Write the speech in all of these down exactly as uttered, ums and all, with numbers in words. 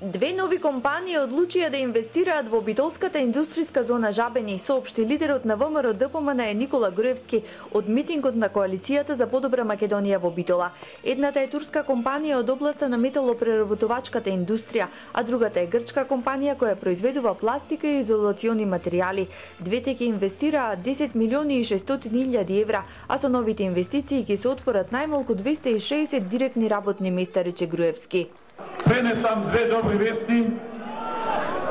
Две нови компании одлучија да инвестираат во битолската индустријска зона Жабени, соопшти лидерот на ВМРО-ДПМН Никола Груевски од митингот на коалицијата за подобра Македонија во Битола. Едната е турска компанија од областа на металопреработувачката индустрија, а другата е грчка компанија која произведува пластика и изолациони материјали. Двете ќе инвестираат десет милиони и шестстотини илјади евра, а со новите инвестиции ќе се отворат најмалку двесте и шеесет директни работни места, рече Груевски. Пренесам две добри вести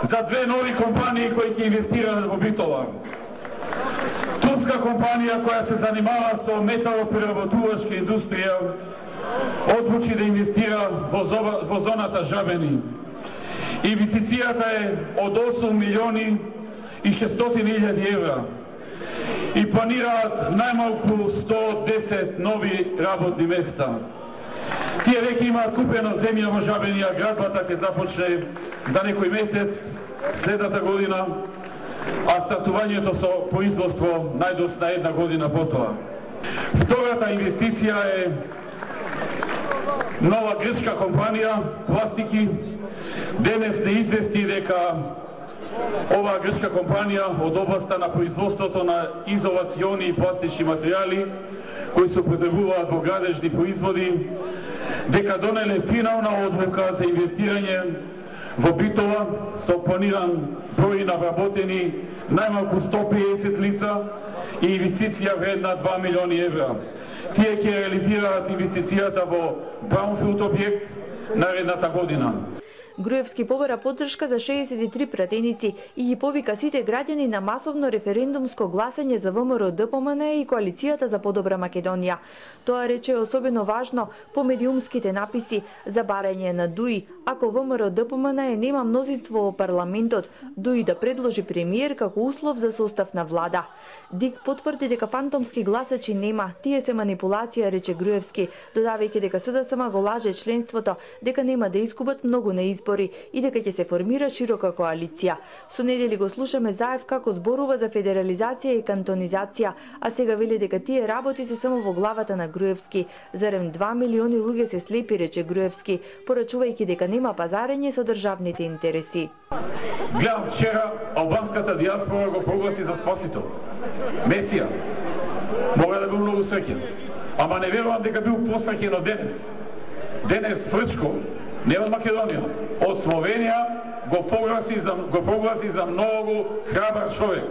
за две нови компании кои ќе инвестираат во Битола. Турска компанија која се занимава со металопреработувачка индустрија одлучи да инвестира во, зоба, во зоната Жабени. Инвестицијата е од осум милиони и шестстотини илјади евра и планираат најмалку сто десет нови работни места. Тие веќе имаат купена земја во Жабени, а градбата ќе започне за некој месец следната година, а стартувањето со производство најдосна една година потоа. Втората инвестиција е нова грчка компанија пластики. Денес не извести дека оваа грчка компанија од областа на производството на изолациони и пластични материјали кои се употребуваат во градежни производи, дека донеле финална одлука за инвестирање во Битола со планиран број на вработени најмалку сто педесет лица и инвестиција вредна два милиони евра. Тие ќе реализираат инвестицијата во браунфилд објект наредната година. Груевски побара поддршка за шеесет и три пратеници и ги повика сите граѓани на масовно референдумско гласање за ВМРО-ДПМН и коалицијата за подобра Македонија. Тоа рече особено важно по медиумските написи за барање на ДУИ, ако ВМРО-ДПМН нема мнозинство во парламентот, ДУИ да предложи премиер како услов за состав на влада. ДИК потврди дека фантомски гласачи нема, тие се манипулација, рече Груевски, додавајќи дека СДСМ го лаже членството, дека нема да изгубат многу на избори и дека ќе се формира широка коалиција. Со недели го слушаме Заев како зборува за федерализација и кантонизација, а сега вели дека тие работи се само во главата на Груевски. Зарем два милиони луѓе се слепи, рече Груевски, порачувајќи дека нема пазарење со државните интереси. Гледам вчера албанската диаспора го прогласи за спасител. Месија. Мога да бил многу среќен. Ама не верувам дека бил посреќен од денес. Денес Фрчко, не од Македонија, од Словенија го прогласи за, го прогласи за многу храбар човек.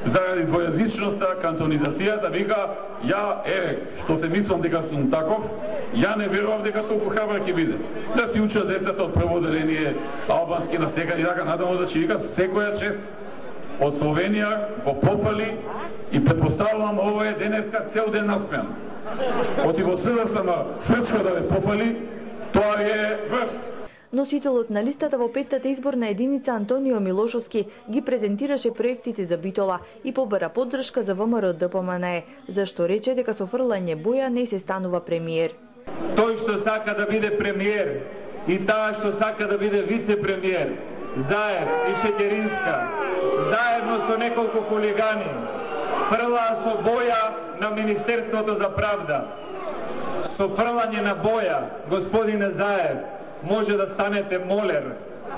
Заради двојазичноста, кантонизацијата, вика, ја, е, што се мислам дека сум таков, ја не верувам дека толку храбар ќе биде. Да си учат децата од прво деление албански на сега и така надаму да ќе вика секоја чест од Словенија го пофали и претпоставувам ова е денеска цел ден наспеан. Оти во СДСМ Фрчко да ве пофали, тоа е врв. Носителот на листата во петтата изборна единица Антонио Милошовски ги презентираше проектите за Битола и побара поддршка за ВМРО-ДПМН, зашто рече дека со фрлање боја не се станува премиер. Тој што сака да биде премиер и таа што сака да биде вице-премиер, Заев и Шетеринска, заедно со неколку хулигани, фрлаа со боја на Министерството за правда. Со фрлање на боја, господине Заев, може да станете молер,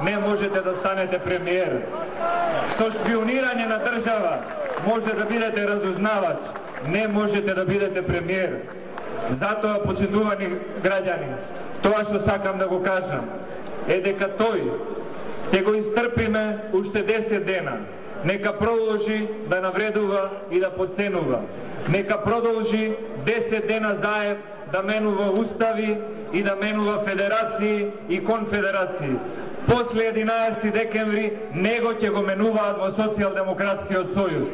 не можете да станете премиер. Со шпионирање на држава, може да бидете разузнавач, не можете да бидете премиер. Затоа, почитувани граѓани, тоа што сакам да го кажам, е дека тој ќе го истрпиме уште десет дена. Нека продолжи да навредува и да подценува. Нека продолжи десет дена Заев да менува устави и да менува федерации и конфедерации. После единаесети декември него ќе го менуваат во Социјалдемократскиот сојуз.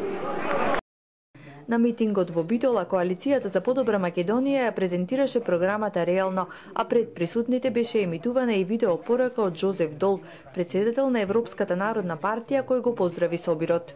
На митингот во Битола коалицијата за подобра Македонија ја презентираше програмата реално, а пред присутните беше емитувана и видео порака од Жозеф Дол, председател на Европската народна партија, кој го поздрави собирот.